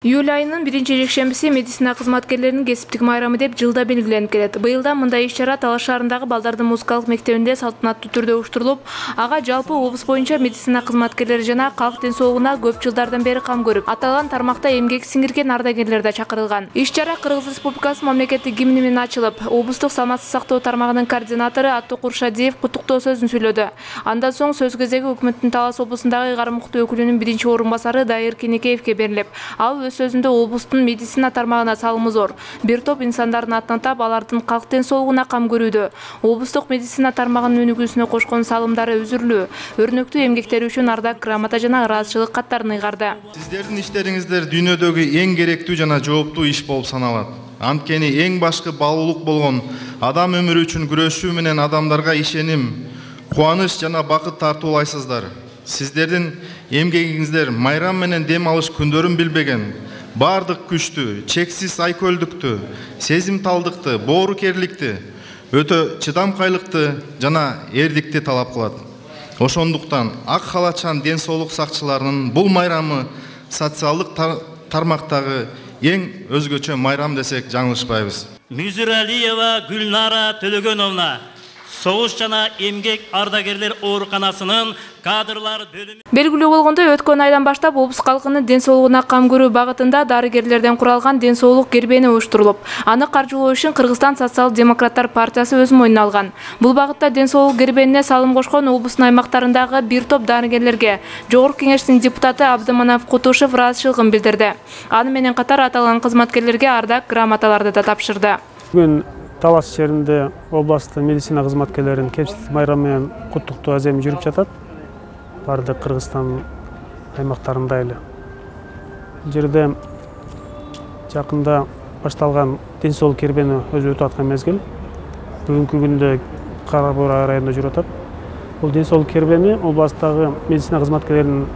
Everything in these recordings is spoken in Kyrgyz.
Июль айынын 1-жекшембиси медицина кызматкерлеринин кесиптик майрамы деп жылда белгиленип келет. Быйыл мындай иш-чара Талас шаарындагы балдардын музыкалык мектебинде салтанаттуу түрдө уюштурулуп, ага жалпы облус боюнча медицина кызматкерлери жана калк ден соолугуна көп жылдардан бери кам көрүп, аталган тармакта эмгек сиңирген ардагерлер да чакырылган. Иш-чара Кыргыз Республикасы мамлекеттик гимни менен ачылып, облустук саламаттык сактоо тармагынын координатору Аттуу Куршадиев куттуктоо сөзүн сөйлөдү. Андан соң сөз кезеги өкмөттүн Талас облусундагы ыйгарым укуктуу өкүлүнүн биринчи орун басары Дайыр Кенекеевке берилип, ал өз сөзүндө облустун медицина тармагына салымы зор. Бир топ инсандардын атын атап, алардын калк ден соолугуна кам көрүүдө, облустук медицина тармагынын өнүгүүсүнө кошкон салымдары үзүрлүү, өрнөктүү эмгектери үчүн ардак грамота жана ыраазычылык каттарын ыйгарды. Сиздердин иштериңиздер дүйнөдөгү эң керектүү жана жооптуу иш болуп саналат. Анткени эң башкы баалуулук болгон адам өмүрү үчүн күрөшүү менен адамдарга ишеним, кубаныч жана бакыт тартуулайсыздар. Сиздердин эмгегиңиздер майрам менен дем алыш күндөрүн билбеген, бардык күчтү, чексиз айкөлдүктү, сезимталдыкты, боорукерликти, өтө чыдамкайлыкты жана эрдикти талап кылат. Ошондуктан ак халатчан ден соолук сакчыларынын бул майрамы социалдык тармактагы эң өзгөчө майрам десек жаңылышпайбыз. Мюзиралиева Гүлнара Төлөгөновна, Согуш жана эмгек ардагерлер ооруканасынын кадрлар бөлүмү. Белгилүү болгондой, өткөн айдан баштап облус калкынын ден соолугуна кам көрүү багытында дарыгерлерден куралган ден соолук кербени уюштурулуп, аны каржылоо үчүн Кыргызстан социал-демократтар партиясы өз мойнуна алган. Бул багытта ден соолук кербенине салым кошкон облустун аймактарындагы бир топ дарыгерлерге Жогорку Кеңештин депутаты Абдыманап Кутушев ыраазычылыгын билдирди. Аны менен катар аталган кызматкерлерге ардак грамоталарды да тапшырды. Бүгүн Талас шаарында областтын медицина кызматкерлеринин кесиптик майрамы менен куттуктоо аземи жүрүп жатат. Бардык Кыргызстан аймактарында эле. Бул жерде жакында башталган ден соолук кербени өзү өтүп аткан мезгил. Бүгүнкү күндө Кара Буйра районунда жүрүп атат. Бул ден соолук кербени областтагы медицина кызматкерлеринин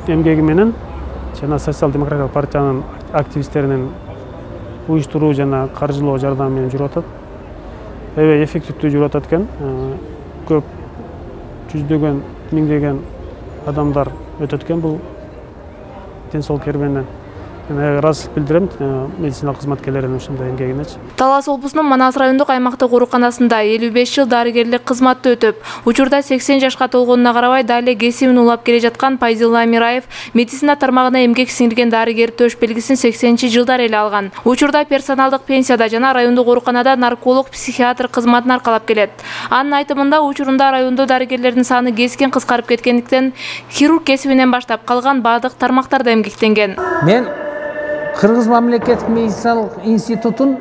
эмгеги менен жана социал-демократиялык партиянын активисттеринин уюштуруу жана каржылоо жардамы менен жүрүп атат. Аябай эффективдүү жүрүп атат экен. Көп жүздөгөн, миңдеген адамдар өтөт экен бул ден соолук кербенинен. Ыраазычылык билдирем медицина кызматкерлеринин ушундай эмгегинечи. Талас облусунун Манас райондук аймактык ооруканасында 55 жыл дарыгерлик кызматты өтүп, учурда 80 жашка толгонуна карабай дале кесибин улап келе жаткан Пайзилла Амираев медицина тармагына эмгек сиңирген дарыгер төш белгисин 80-жылдар эле алган. Учурда персоналдык пенсияда жана райондук ооруканада нарколог, психиатр кызматын аркалап келет. Анын айтымында, учурунда райондо дарыгерлердин саны кескен кыскарып кеткендиктен хирург кесибинен баштап калган баардык тармактарда эмгектенген. Мен Кыргыз мамлекеттик медициналык институтун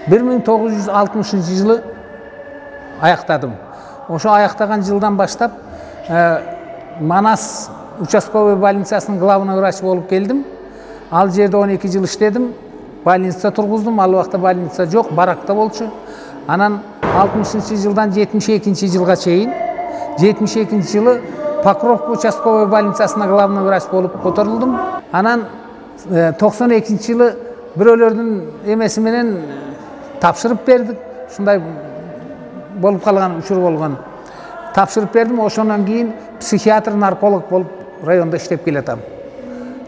1960 жылы аяктадым. Ошо аяктаган жылдан баштап Манас участковый больницасынын главный врачы болуп келдим. Ал жерде 12 жыл иштедим. Больница тургуздум. Ал убакта больница жок, баракта болчу. Анан 60 жылдан 72 жылга чейин 72 жылы Покровка участковый больницасына главный врач болуп которулдум. Анан 92 жылы бирөөлөрдүн эмеси менен тапшырып бердик. Ушундай болуп калган учур болгон. Тапшырып бердим. Ошондон кийин психиатр, нарколог болуп райондо иштеп келатам.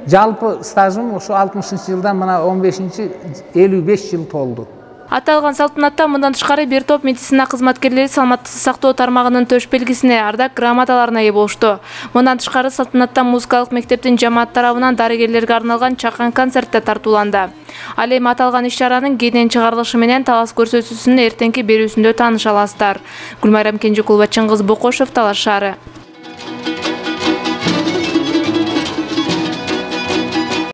Жалпы стажым ошо 60 жылдан мына 55 жыл толду. Аталган салтанатта мындан тышкары бир топ медицина кызматкерлери саламаттык сактоо тармагынын төш белгисине, ардак грамоталарына ээ болушту. Мындан тышкары салтанатта музыкалык мектептин жамаат тарабынан дарыгерлерге арналган чакан концерт да тартууланды. Ал эми аталган иш-чаранын кенен чыгарылышы менен Талас көрсөтүүсүнүн эртеңки берүүсүндө тааныша аласыздар. Гүлмайрам Кенжекулова, Чыңгыз Бокошев, Талас шаары.